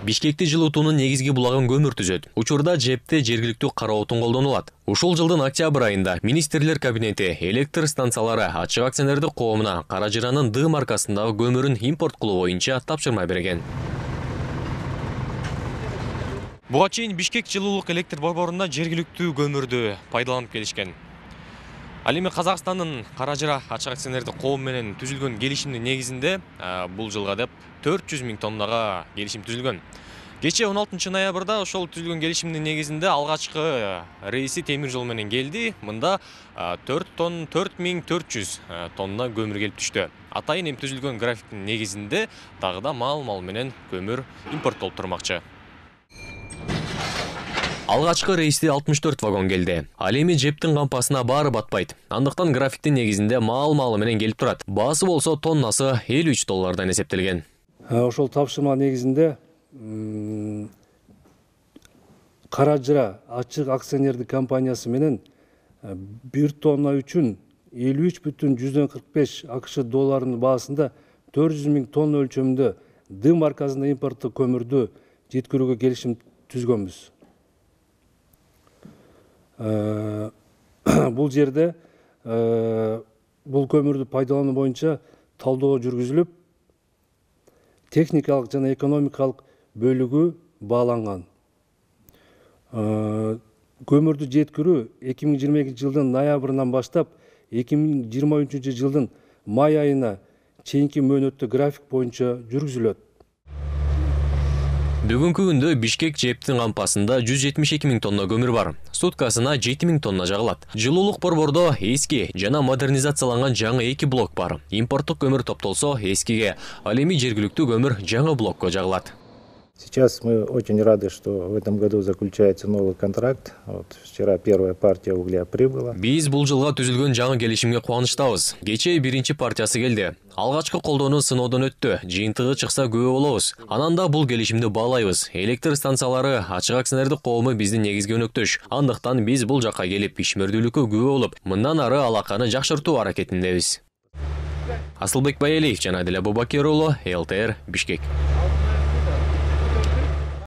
Бишкекти жылытуунун негизги булагын көмүр түзөт. Учурда ЖЭПте жергиликтүү кара отун колдонулат. Ушул жылдын октябрь айында Министрлер кабинети электр станциялары ачык акционердик коомуна Кара Жыранын Д маркасындагы көмүрүн импорт кылуу боюнча тапшырма берген. Буга чейин Бишкек жылуулук электр борборунда жергиликтүү көмүрдү пайдаланып келишкен. Ал эми Казакстандын Кара Жыра ачык акционердик коому менен түзүлгөн келишимдин негизинде бул жылга деп 400 000 тоннага келишим түзүлгөн. Кече 16 ноябрда ошол түзүлгөн келишимдин негизинде алгачкы рейси темир жол менен келди. Мында 4400 тонна көмүр келип түштү. Атайын эми түзүлгөн графиктин негизинде дагы да мал менен көмүр импорттолуп турмакчы. Алгачкы рейсте 64 вагон келди. Ал эми ЖЭПтин кампасына баары батпайт. Андыктан графиктин негизинде мал менен келип турат. Баасы болсо тоннасы $53 эсептелген. Ошол тапшырма негизинде Кара Жыра ачык акционердик компаниясы менен 1 тонна үчүн 53,45 АКШ долларынын баасында 400 000 тонна өлчөмүндө Д маркасында импорттук көмүрдү жеткирүүгө келишим түзгөнбүз. Бул жерде бул көмүрдү пайдалануу боюнча талдоо жүргүзүлүп, техникалык жана экономикалык бөлүгү бааланган. Көмүрдү жеткирүү 2022 жылдын ноябрынан баштап 2023 жылдын май айына чейинки мөөнөттө график боюнча жүргүзүлөт. Бүгүнкү күндө Бишкек ЖЭПтин кампасында 172 000 тонна көмүр бар. Суткасына 7 000 тонна жагылат. Жылуулук борбордо эски жана модернизацияланган жаңы 2 блок бар. Импорттук көмүр топтолсо эскиге, ал эми жергиликтүү көмүр жаңы блокко жагылат. Сейчас мы очень рады, что в этом году заключается новый контракт. Вчера первая партия угля прибыла. Биз бул жылга түзүлгөн жаңы келишимге кубанычтабыз. Кечээ биринчи партиясы келди. Алгачкы колдоону сыноодон өттү. Жыйынтыгы чыкса күбө болобуз. Анан да бул келишимди баалайбыз. Электр станциялары ачык акционердик коому биздин негизги өнөктөш. Андыктан биз бул жакка келип ишмердүүлүккө күбө болуп, мындан ары алаканы жакшыртуу аракетиндебиз. Асылбек Баялиев жана Адил Абубакир уулу, ЛТР, Бишкек.